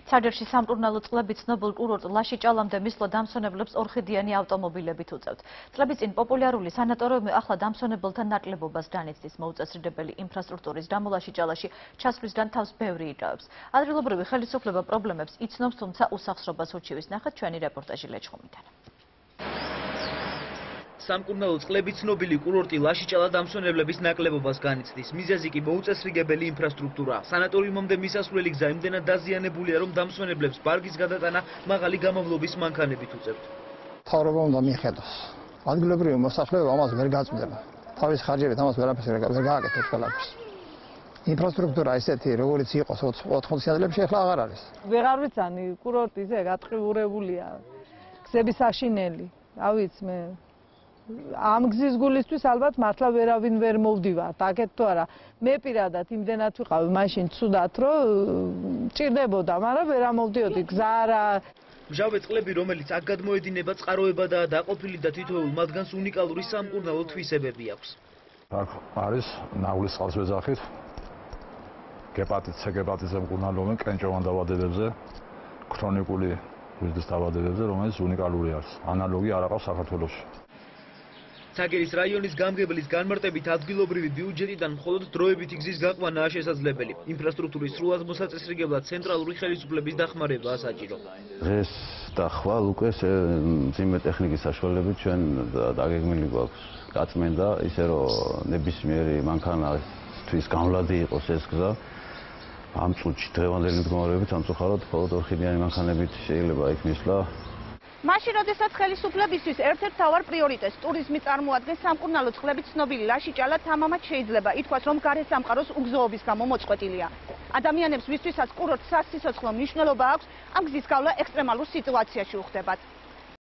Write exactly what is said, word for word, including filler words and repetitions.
სარჯერში სამკურნალო წყლები ცნობილ კურორტ ლაშიჭალამდე მისვლა დამსვენებლებს ორხიდიანი ავტომობილებით უწევთ. წლების წინ პოპულარული სანატორიუმი ახლა დამსვენებელთა ნაკლებობას განიცდის. მოუწესრიდებელი ინფრასტრუქტურის გამო ლაშიჭალაში ჩასვლისგან თავს ბევრი იჭავებს. ადგილობრივი ხელისუფლება პრობლემებს იცნობს, თუმცა უსახსრობას უჩივის. ნახეთ ჩვენი რეპორტაჟი ლეჩხუმიდან. სამკურნალო წყლები ცნობილი კურორტი ლაშიჭალა დამსვენებლების ნაკლებობას განიცდის. მიზეზი კი მოუწესრიგებელი ინფრასტრუქტურაა. სანატორიუმამდე მისასვლელი გზა იმდენად დაზიანებულია, რომ დამსვენებლებს ბარგის გადატანა მაღალი გამავლობის მანქანებით უწევთ. მთავრობა უნდა მიხედოს. ადგილობრივი მოსახლეობა ამას ვერ გაწმდება. თავის ხარჯებით ამას ვერაფერს ვერ გააკეთებს ყველაფერს. ინფრასტრუქტურა ესეთი, როგორც იყო ოთხმოციან წლებში, ახლა აღარ არის. ვეღარ ვიცანი, კურორტიზე გატყიურებულია გზების აშინელი. რა ვიცი მე ამ გზის გულისთვის ალბათ მართლა ვერავინ ვერ მოვდივართ, აქეთ თუ არა. მე პირადად იმდენად ვიყავი მაშინ ცუდად, რომ ჭირდებოდა, მაგრამ ვერ ამოვდიოდი, გზა არა. მჟავე წყლები, რომელიც აქ გადმოედინება, წყაროებადაა დაყოფილი და თითოეულ მათგანს უნიკალური სამკურნალო თვისებები აქვს. აქ არის ნავლის წყალსვეძახით, გეპატიტ C გეპატიტზე მკურნალობენ კენჭოვან დაავადებებზე, ქრონიკული გვერდის დაავადებებზე, რომელიც უნიკალური არის. ანალოგი არ აქვს საქართველოში. ცაგერის რაიონის გამგებლის განმარტებით ადგილობრივი ბიუჯეტიდან მხოლოდ დროებითი გზის გაყვანაა შესაძლებელი. ინფრასტრუქტურის სრულად მოსაწესრიგებლად ცენტრალური ხელისუფლების დახმარებაა საჭირო. დღეს და ხვალ უკვე მძიმე ტექნიკის საშუალებით ჩვენ დაგეგმილი გვაქვს გაწმენდა, ისე რომ ნებისმიერი მანქანისთვის გამვლადი იყოს ეს გზა. ამ წუთში დღევანდელი მდგომარეობით სამწუხაროდ მხოლოდ ორხიდიანი მანქანებით შეიძლება იქ მისვლა. მაშინ, როდესაც ხელისუფლებისთვის ერთ-ერთ მთავარ პრიორიტეტს ტურიზმი წარმოადგენს, სამკურნალო წყლები ცნობილი ლაშიჭალა თამამად შეიძლება ითქვას, რომ გარესამყაროს უგზოობის გამო მოწყვეტილია. ადამიანებს, ვისთვისაც კურორტს სასიცოცხლო მნიშვნელობა აქვს, ამ გზის გავლა ექსტრემალურ სიტუაციაში უხდებათ.